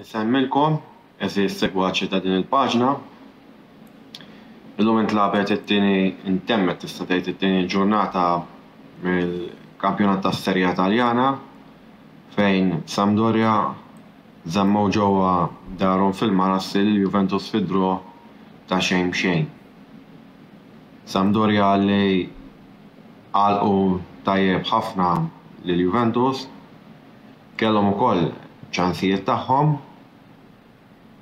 Insemmilkom, għeżież segwaċi ta' din il-paġna. Illum intlagħbet it-tieni intemmet tista' tgħid it-tieni ġurnata mill-kampjonat tas-Serie A Taljana fejn Sampdoria żammew ġewwa darhom fil-Marassi lil Juventus fi draw ta' xejn b'xejn. Sampdoria li għalqu tajjeb ħafna lil Juventus Kellhom ukoll ċansijiet tagħhom,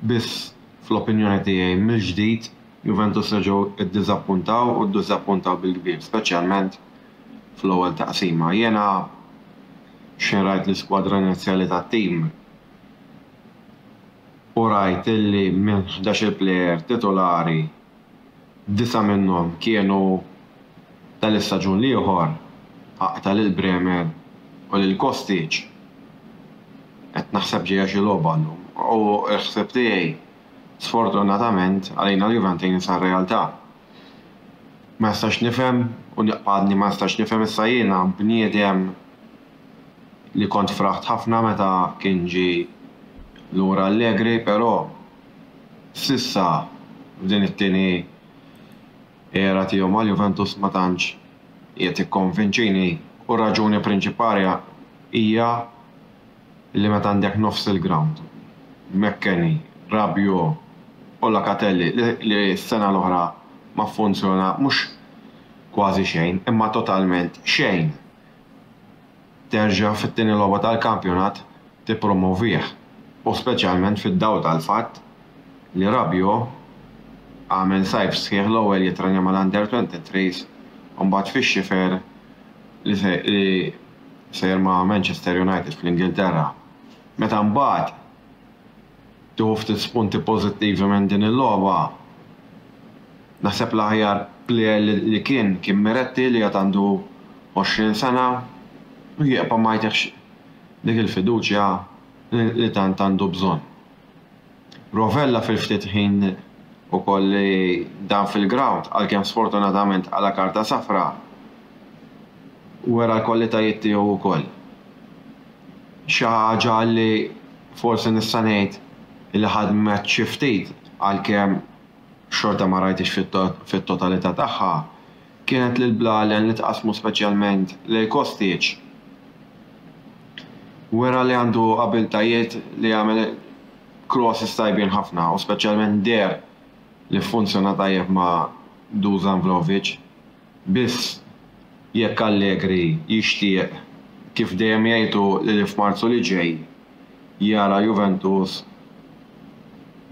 biss fl-opinjoni tiegħi mill-ġdid Juventus reġgħu ddiżappuntaw u ddiżappuntaw bil-kbir, speċjalment fl-ewwel taqsima. Jiena x'ħin rajt l-iskwadra inizjali tat-tim u rajt illi minn ħdax-il plejer titolari Disa' minnhom kienu tal-istaġun l-ieħor, aqta' lil Bremer u lil Kostic. Qed naħseb ġejja xi logħba llum u l-ħsieb tiegħi sfortunatament għalina l-Juventini sar realtà. Ma nistax nifhem u nibqa' għadni ma nistax nifhem issa jiena bniedem li kont fraħt ħafna meta kien ġie lura Allegri però S'issa f'din it-tieni era tiegħu mal-Juventus ma tantx qiegħed jikkonvinċini u r-raġuni prinċipali hija li meta għandek nofs il-grawnd, McKennie, Rabiot u Locatelli li s-sena l-oħra ma ffunzjona mhux kważi xejn imma totalment xejn. Terġa' fit-tieni logħba tal-kampjonat tippromovih u speċjalment fid-dawl tal-fatt li Rabiot għamel sajf sħiħ l-ewwel jitrenja mal-Under 23s u mbagħad fix-xifer li sejjer ma' Manchester United fl-Ingilterra. Meta mbagħad tieħu ftit spunti pożittivi minn din il-logħba, naħseb l-aħjar plejer li kien kien Miretti li għad għandu 20 sena u jibqa' ma jtihx dik il-fiduċja li tant għandu bżonn. Rovella fil-ftit ħin ukoll li dam fil-grawnd, għalkemm sfortunatament qala' karta safra, wera l-kwalitajiet tiegħu wkoll. Xi ħaġa li forsi nista' ngħid li ħadmet xi ftit għalkemm xorta ma rajthiex fit-totalità tagħha, kienet li l-blalen li tqassmu speċjalment lejn Kostic wera li għandu abiltajiet li jagħmel crosses tajbin ħafna u speċjalment deher li ffunzjona tajjeb ma' Dusan Vlahovic. Biss jekk Allegri jixtieq kif dejjem jgħid hu li f'Marzu li ġej jara Juventus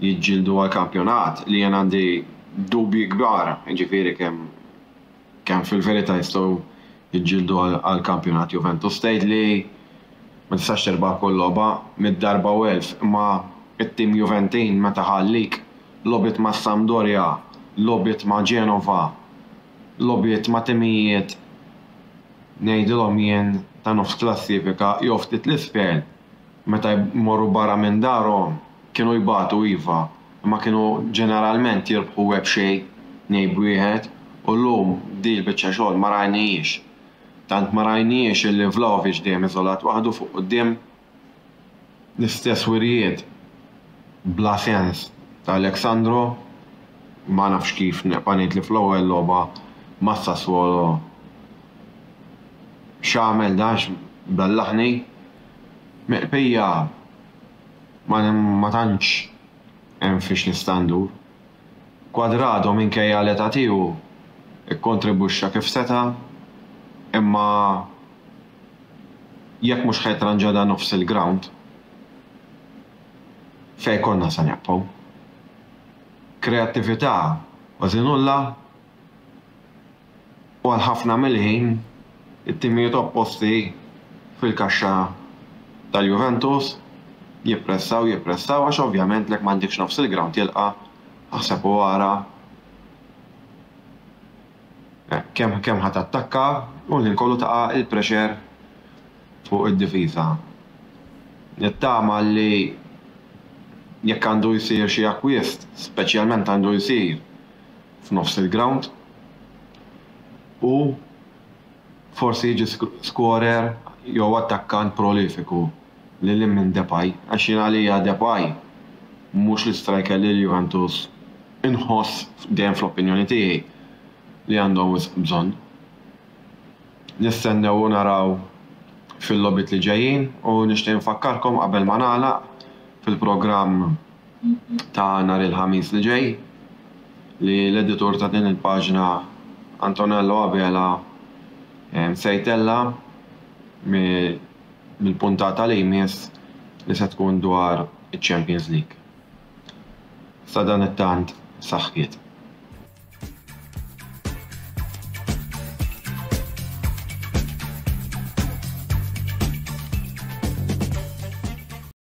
jiġġieldu għall-kampjonat, li jien għandi dubji kbar, jiġifieri kemm kemm fil-verità jistgħu jiġġieldu għall-kampjonat Juventus. Tgħid li ma tistax tirbaħ kull logħba, mitt darba u elf, imma t-tim Juventin meta ħallik, logħbiet ma' Sampdoria, logħbiet ma' Genova, logħbiet ma' timijiet ngħidilhom jien ta' nofs klassifika jew ftit 'l isfel, meta jmorru barra minn darhom kienu jbatu iva, imma kienu ġeneralment jirbħu web xejn, tnejn b'wieħed, u llum din il-biċċa xogħol ma rajnihiex. Tant ma rajnihiex illi Vlahovic dejjem iżolat waħdu fuq quddiem. L-istess wirjiet bla sens ta' Alex Sandro, ma nafx kif nibqa' ngħid li fl-ewwel logħba ma' Sassuolo x'għamel dan x'bellaħni. Mill-bqija ma tantx hemm fiex nista' ndur. Cuadrado minkejja l-età tiegħu kkontribwixxa kif seta' imma jekk mhux ħa jitranġa dan nofs il-grawnd fejn konna se nibqgħu? Kreattività kważi nulla u għal ħafna mill-ħin it-timijiet opposti fil-kaxxa tal-Juventus jippressaw jippressaw għax ovvjament lek m'għandekx nofs il-grawnd jilqa' aħseb u ara kemm kemm ħa tattakka u l-ħin kollu taqa' il-pressure fuq id-difiża. Nittama li jekk għandu jsir xi akkwist, speċjalment għandu jsir f'nofs il-grawnd u forsi jiġi skorer jew attakkant prolifiku. lil hinn minn Depay għax jien għalija Depay mhux l-istriker li l-Juventus inħoss dejjem fl-opinjoni tiegħi li għandhom wisq bżonn. Nistennew u naraw fil-logħbiet li ġejjin u nixtieq infakkarkom qabel ma nagħlaq fil-programm ta' nhar il-Ħamis li ġej li l-editur ta' din il-paġna Antonello Abela se jtella' mill-puntata li jmiss li se tkun dwar iċ-Champions League. Sadanittant, saħħiet.